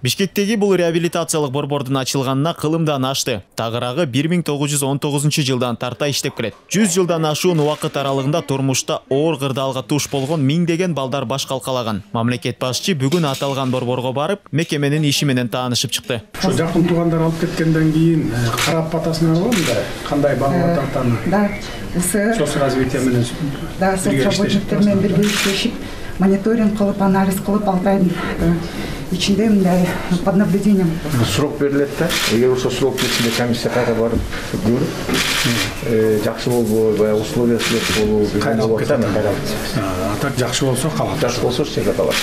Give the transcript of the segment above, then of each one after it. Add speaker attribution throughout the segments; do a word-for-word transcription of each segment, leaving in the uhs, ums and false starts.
Speaker 1: Бишкектеги бул реабилитациялык борбордун ачылганына кылымдан ашты. Тагыраагы бир миң тогуз жүз он тогузунчу жылдан тарта иштеп келет. жүз жылдан ашуун убакыт аралыгында турмушта оор кырдаалга туш болгон миңдеген балдар баш калкалаган. Мамлекет башчы бүгүн аталган борборго барып, мекеменин иши менен таанышып чыкты.
Speaker 2: Ошо жакын туугандар алып кеткенден кийин карап батасың албадыңбы да? Кандай багып ататтан?
Speaker 3: Да,
Speaker 2: соц развитие менен.
Speaker 3: Да, соцработниктер менен бирге иштешип, мониторинг кылып, анализ кылып, алты айдын ичинде мындай под наблюдением.
Speaker 4: Срок берилет да. Эгер ошол срок ичинде комиссия кайра барып көрүп, жакшы болбой, баягы условиясы болуп, кайралып кетет.
Speaker 2: А так жакшы болсо калат.
Speaker 4: Жакшы болсо чек калат.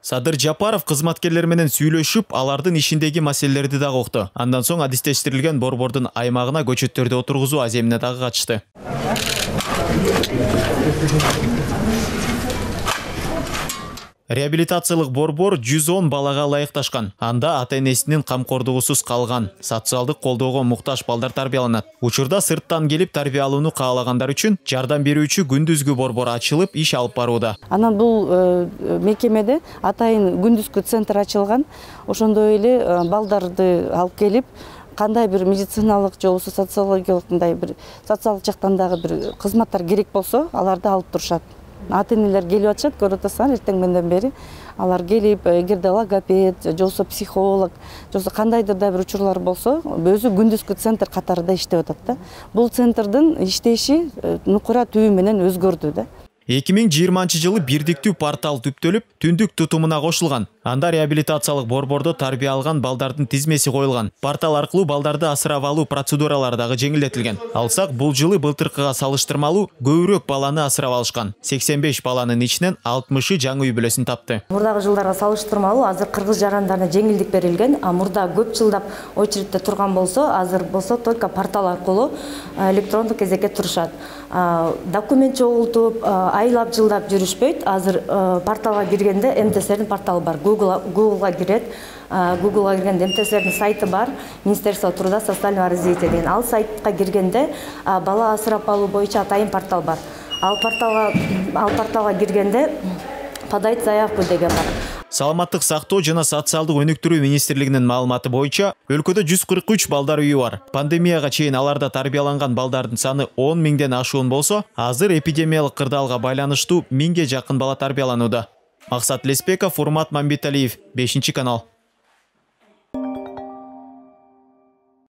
Speaker 1: Садыр Жапаров кызматкерлер менен сүйлөшүп, алардын ишиндеги маселелерди дагы укту. Андан соң адистештирилген борбордун аймагына көчөттөрдү отургузуу аземине дагы катышты. Реабилитациялык борбор жүз он балага ылайыкташкан. Анда ата-энесинин камкордугусуз калган, социалдык колдоого муктаж балдар тарбияланат. Учурда сырттан келип тарбиялууну каалагандар үчүн жардам берүүчү күндүзгү борбор ачылып, иш алып барууда.
Speaker 5: Анан бул мекемеде атайын күндүзгү центр ачылган. Ошондой эле балдарды алып келип, кандай бир медициналык же болбосо социологиялык мындай бир социалдык жактан дагы бир кызматтар керек болсо, аларды алып турушат. Ата-энелер келип атышат, көрүп атасыңар, эртең менден бери алар келип, эгерде логопед, же болбосо психолог, же болбосо кандайдыр да бир учурлар болсо, өзү күндүзгү центр катарында иштеп атат да. Бул центрдин иштеши нукура түбү менен өзгөрдү да.
Speaker 1: эки миң жыйырманчы жылы бирдиктүү портал түптөлүп, түндүк тутумуна кошулган. Анда реабилитациялык борбордо тарбия алган балдардын тизмеси коюлган. Портал аркылуу балдарды асырап алуу процедуралары дагы жеңилдетилген. Алсак, бул жылы былтыркыга салыштырмалуу көбүрөөк баланы асырап алышкан. сексен беш баланын ичинен алтымышы жаңы үй бүлөсүн тапты.
Speaker 6: Мурдагы жылдарга салыштырмалуу азыр кыргыз жарандарына жеңилдик берилген. А мурда көп жылдап очередте турган болсо, азыр болсо только портал аркылуу электрондук кезекке турушат. Документ чогултуп, айлап жылдап жүрүшпөйт. Азыр порталга киргенде эм тэ эс'тердин порталы бар. Гуглга кирет. Гуглга киргенде эм тэ эс'тердин сайты бар. Министерство труда, социального развития деген. Ал сайтка киргенде бала асырап алуу боюнча атайын портал бар. Ал порталга ал порталга киргенде подать заявку деген бар.
Speaker 1: Саламаттык сактоо жана социалдык өнүктүрүү министрлигинин маалыматы боюнча өлкөдө жүз кырк үч балдар үйү бар. Пандемияга чейин аларда тарбияланган балдардын саны он миңден ашуун болсо, азыр эпидемиялык кырдаалга байланыштуу миңге жакын бала тарбияланууда. Максат Леспеков, Урмат Мамбеталиев, бешинчи канал.